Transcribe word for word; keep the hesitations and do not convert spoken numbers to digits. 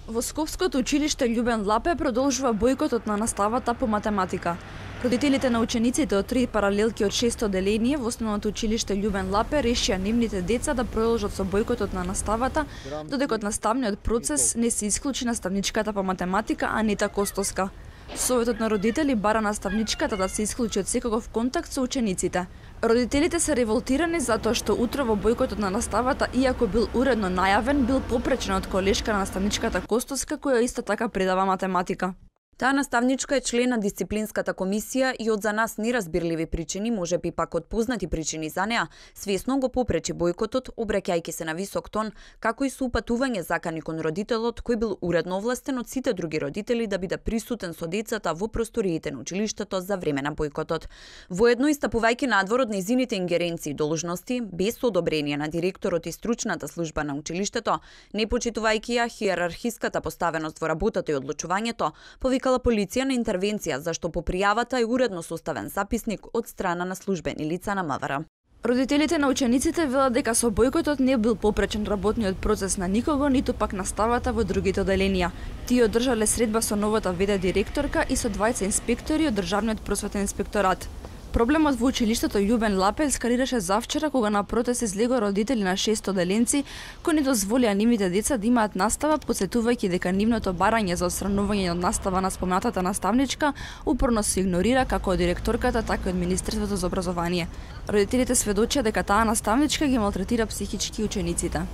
Во Скопското училиште Љубен Лапе продолжува бојкотот на наставата по математика. Родителите на учениците од три паралелки од шесто одделение во основното училиште Љубен Лапе решија нивните деца да продолжат со бојкотот на наставата, додека од наставниот процес не се исклучи наставничката по математика Анита Костовска. Советот на родители бара наставничката да се исклучи од секаков контакт со учениците. Родителите се револтирани затоа што утро во бојкотот на наставата, иако бил уредно најавен, бил попречен од колешка на наставничката Костовска, која исто така предава математика. Таа наставничка е член на дисциплинската комисија и од за нас неразбирливи причини, можеби пак од познати причини за неа, свесно го попречи бојкотот, обраќајќи се на висок тон, како и со упатување закани кон родителот, кој бил уредно овластен од сите други родители да биде присутен со децата во просториите на училиштето за време на бојкотот. Воедно истапувајќи надвор од нејзините ингеренции и должности, без одобрение на директорот и стручната служба на училиштето, не почитувајќи ја хиерархиската поставеност во работата и одлучувањето, повикала полиција на интервенција, зашто по пријавата е уредно составен записник од страна на службени лица на МВР. Родителите на учениците велат дека со бојкотот не бил попречен работниот процес на никого, ниту пак наставата во другите одделенија. Тие одржале средба со новата вд директорка и со двајца инспектори од Државниот просветен инспекторат. Проблемот во училиштето Љубен Лапе ескалираше завчера кога на протест излегоа родители на шест одделенци кои не дозволија нивните деца да имаат настава, потсетувајќи дека нивното барање за отстранување од настава на споменатата наставничка упорно се игнорира како од директорката, така и од Министерството за образование. Родителите сведочија дека таа наставничка ги малтретира психички учениците.